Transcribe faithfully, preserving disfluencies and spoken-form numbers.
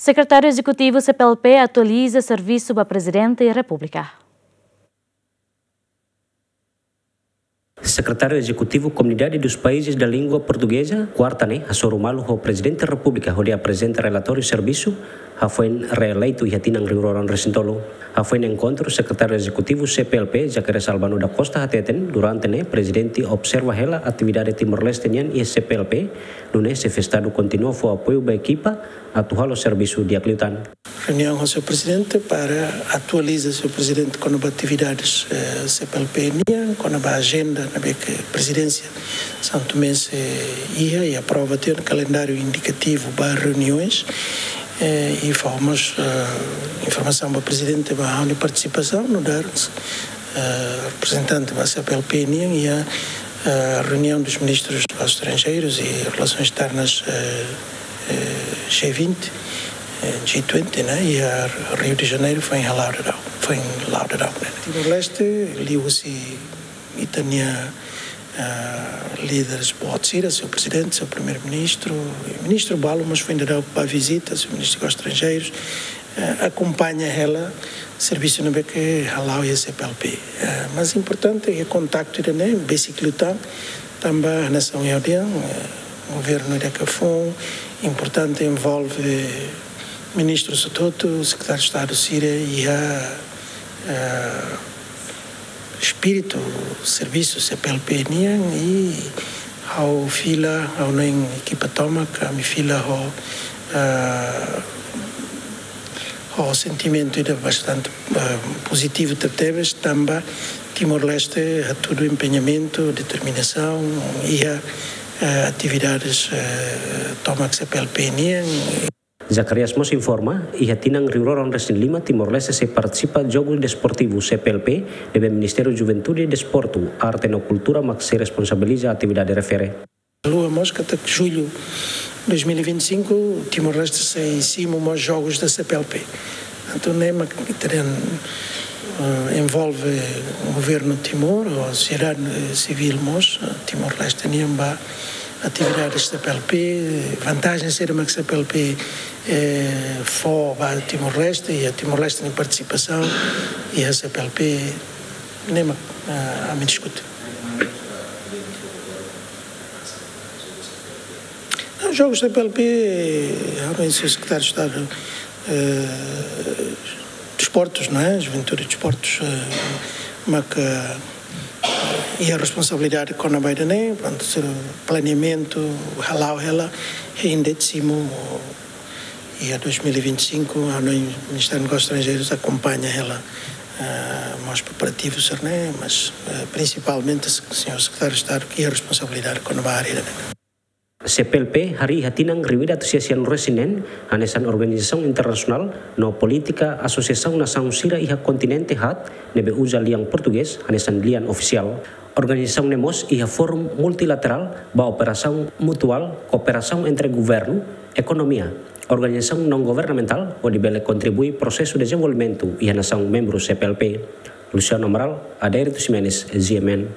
Sekretáriu Ezekutivu C P L P atualiza servisu ba Prezidente Repúblika. Sekretáriu Ezekutivu Komunidade dos Países da Língua Portuguesa, kuarta ne'e, hasoru malu ho Prezidente Repúblika hodi aprezenta relatóriu servisu hafoin reeleitu iha tinan rihun rua ruanulu-resin-tolu. Hafoin enkontru, Sekretáriu Ezekutivu C P L P, Zacarias Albano da Costa, hateten, durante ne'e, Prezidente observa hela atividade Timor-Leste nian iha C P L P, nune'e xefe Estadu kontinua fó apoiu ba ekipa atu halo servisu di'ak liután. Reuniaun ho señór Prezidente para atualiza señór Prezidente kona-ba atividades, eh, C P L P nian, kona-ba ajenda ne'ebé ke Prezidénsia Santomense iha, i aprova tiha ona kalendáriu indikativu ba reuniões, eh, i fó mós, eh, informasaun ba Prezidente ba ha'u-nia partisipasaun, nu'udar, eh, reprezentante ba C P L P nian iha, eh, reuniaun dos ministros dos estrangeiros e relações externas, eh, eh, G vinte, eh, G twenty, ne'e, iha Rio de Janeiro, foin iha Lauderdale, foin iha Lauderdale, ne'e. Timor-Leste, liuhusi ita-nia, eh, líderes boot sira, señór Prezidente, señór Primeiru-Ministru, i ministru balu mós foin daudauk bá vizita, señór Ministru dos Estrangeiros, eh, akompaña hela servisu ne'ebé ke hala'o iha C P L P. Eh, mas importante iha kontaktu ida-ne'e, besik liután, tanba hanesan ohin ha'u dehan, eh, governu ida ke foun, importante envolve ministru hotu-hotu, sekretáriu Estadu sira iha, eh, espíritu servisu C P L P nian, i ha'u fila, ha'u-nia ekipa tomak, ami fila ho, eh, ho sentimentu ida bastante, eh, pozitivu tebetebes, tanba Timor-Leste hatudu empeñamentu, determinasaun iha, eh, atividades, eh, tomak C P L P nian. Zacarias mós informa, iha tinan rihun rua ruanulu-resin-lima, Timor-Leste sei partisipa Jogu Desportivu C P L P, ne'ebé Ministériu Juventude, Desportu, Arte no Kultura mak sei responsabiliza atividade refere. Lua mós katak jullu dois mil e vinte e cinco, Timor-Leste sei simu mós jogus da C P L P. Entaun, ne'e mak ita dehan, eh, envolve governu Timor, ou sosiedade, eh, sivíl mós, eh, Timor-Leste nian ba atividades C P L P, vantajen saida mak C P L P, eh, fó ba Timor-Leste, i Timor-Leste nia partisipasaun iha C P L P, ne'e mak, eh, ami diskute. Não, jogus C P L P, eh, ha'u-nia sekretáriu Estadu, eh, Desportus, não é? Juventude e Desportus, eh, mak, eh, iha responsabilidade kona-ba ida-ne'e, prontu, se planeamentu, hala'o hela, hein det simu, iha dois mil e vinte e cinco, ha'u-nia Ministériu Negósius Estranjeirus akompaña hela, eh, mós preparativu sira-ne'e, mas, eh, prinsipalmente, se-, señór Sekretáriu Estadu ke iha responsabilidade kona-ba área ida-ne'e. C P L P harii iha tinan rihun ida atus sia sianulu-resin-neen, hanesan organizasaun internasionál, no polítika asosiasaun nasaun sira iha kontinente haat, ne'ebé uza lian portugés hanesan lian ofisiál. Organizasaun ne'e mós iha fórum multilaterál ba operasaun mutuál, kooperasaun entre governu, ekonomia, organizasaun non-governamentál, hodi bele kontribui prosesu dezenvolvimentu iha nasaun membru C P L P. Luciano Amaral, Adérito Ximenes, G M N.